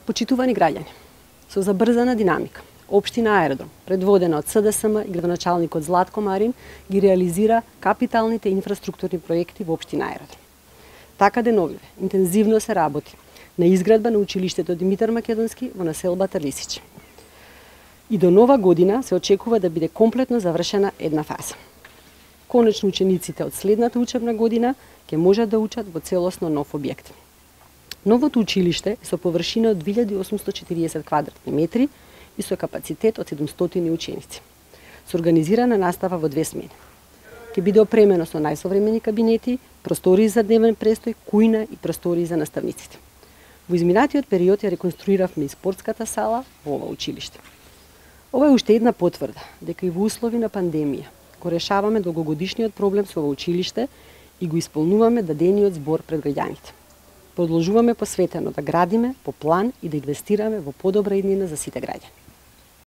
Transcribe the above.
Почитувани граѓани, со забрзана динамика, Општина Аеродром, предводена од СДСМ и градоначалникот Златко Марин, ги реализира капиталните инфраструктурни проекти во Општина Аеродром. Така деновиве интензивно се работи на изградба на училиштето Димитар Македонски во населбата Лисич. И до нова година се очекува да биде комплетно завршена една фаза. Конечно учениците од следната учебна година ќе можат да учат во целосно нов објект. Новото училиште е со површина од 2840 квадратни метри и со капацитет од 700 ученици. Со организирана настава во 2 смени. Ќе биде опремено со најсовремени кабинети, простории за дневен престој, кујна и простории за наставниците. Во изминатиот период ја реконструиравме и спортската сала во ова училиште. Ова е уште една потврда дека и во услови на пандемија го решаваме долгогодишниот проблем со ова училиште и го исполнуваме дадениот збор пред граѓаните. Продолжуваме посветено да градиме по план и да инвестираме во подобра иднина за сите граѓани.